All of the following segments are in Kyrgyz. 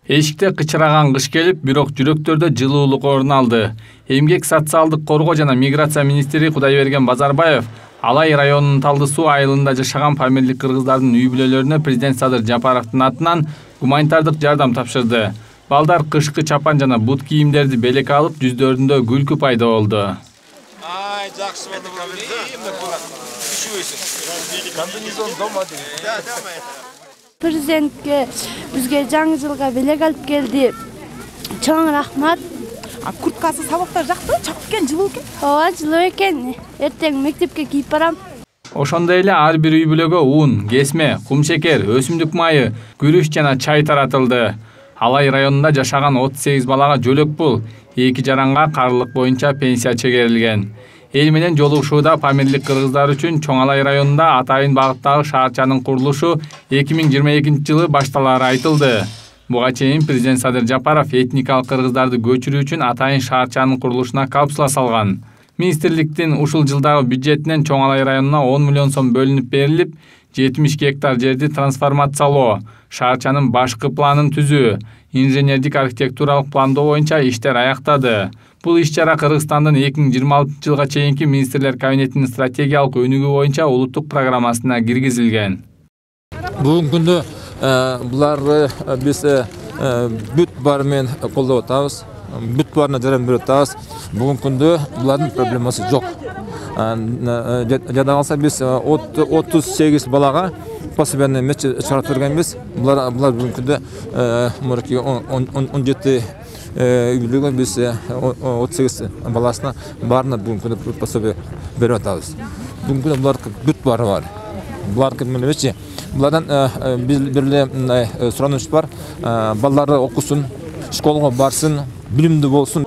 Эшикте кычыраган кыш келип, бирок жүрөктөрдө жылуулук орун алды. Эмгек социалдык коргоо жана миграция министри Кудайберген Базарбаев Алай районунун Талды суу айылында жашаган памирлик кыргыздардын үй бүлөлөрүнө президент Садыр Жапаровдун атынан гуманитардык жардам тапшырды. Балдар кышкы чапан жана бут кийимдерди белекке алып, жүздөрүндө күлкү пайда болду. Президентке бизге жаңы жылга белек алып келди. Чоң рахмат. Курткасы, сабактар жакты, чакып экен, жылуу экен. Ооба, жылуу экен. Эртең мектепке кийип барам. Ошондой эле ар бир үй бүлөгө ун, кесме, кумшекер, өсүмдүк майы, күрүч жана чай таратылды. Алай районунда жашаган 38 балага жөлөк пул, 2 жаранга карылык боюнча пенсия чегерилген. Эл менен жолугушууда памирлик кыргыздар үчүн Чоң Алай районунда атайын багыттагы шаарчанын курулушу 2022-жылы башталары айтылды. Буга чейин президент Садыр Жапаров этникалык кыргыздарды көчүрүү үчүн атайын шаарчанын курулушуна капсула салган. Министрликтин ушул жылдагы бюджетинен Чоң Алай районуна 10 миллион сом бөлүнүп берилип, 70 гектар жерди трансформациялоо, шаарчанын башкы планын түзүү, инженердик архитектуралык пландоо боюнча иштер аяктады. Бул иш-чара Кыргызстандын 2026-жылга чейинки министрлер кабинетинин стратегиялык өнүгүү боюнча улуттук программасына киргизилген. Бүгүнкү күндө буларды биз бүт баары менен колдоп атабыз. Бүт баарына жардам берип атабыз. Бүгүнкү күндө булардын проблемасы жок. Жада калса биз 38 балага пособияны чыгарып бергенбиз. Булар бүгүнкү күндө 17 үй биз 38 баласына баарына бүгүнкү күндө пособия берип атабыз. Бүгүнкү күндө булардын бүт баары бар. Булардын эмнечи? Булардан бириле сураныш бар. Балдары окусун, школага барсын, билимдүү болсун.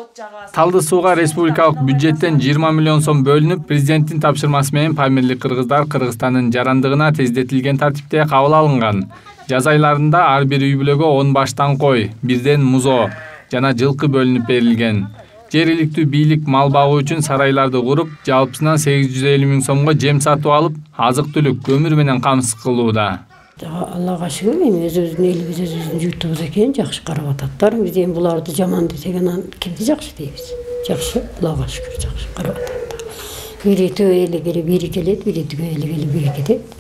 Талды сууга республикалык бюджеттен 20 миллион сом бөлүнүп, президенттин тапшырмасы менен памирлик кыргыздар Кыргызстандын жарандыгына тездетилген тартипте кабыл алынган. Жаз айларында ар бир үй бүлөгө 10 баштан кой, бирден музо жана жылкы бөлүнүп берилген. Жергиликтүү бийлик мал багуу үчүн сарайларды куруп, жалпысынан 850 миң сомго жем сатып алып, азык-түлүк, көмүр менен камсыз кылууда. Аллага шүгүр, эми өзүбүздүн элибиз, өзүбүздүн журтубуз экен, жакшы карап ататтар. Биз эми буларды жаман десеген кимди жакшы дейбиз. Жакшы, Аллага шүгүр, жакшы карап ататтар. Бири төгө эле бири келет, бири төгө эле бири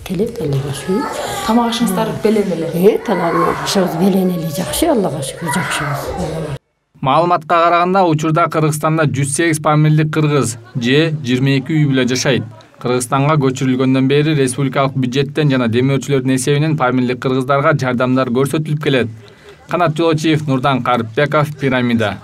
келет, Аллага шүгүр. Тамак ашыңыздар белен эле. Тамак ашыбыз белен эле жакшы, Аллага шүгүр, жакшыбыз. Маалыматка караганда, учурда Кыргызстанда 108 памирлик кыргыз же 22 үй бүлө жашайт. Кыргызстанга көчүрүлгөндөн бери республикалык бюджеттен жана демөөрчүлөрдүн эсебинен памирлик кыргыздарга жардамдар көрсөтүлүп келет. Канат Жолочиев, Нурдан Карыпбеков, Пирамида.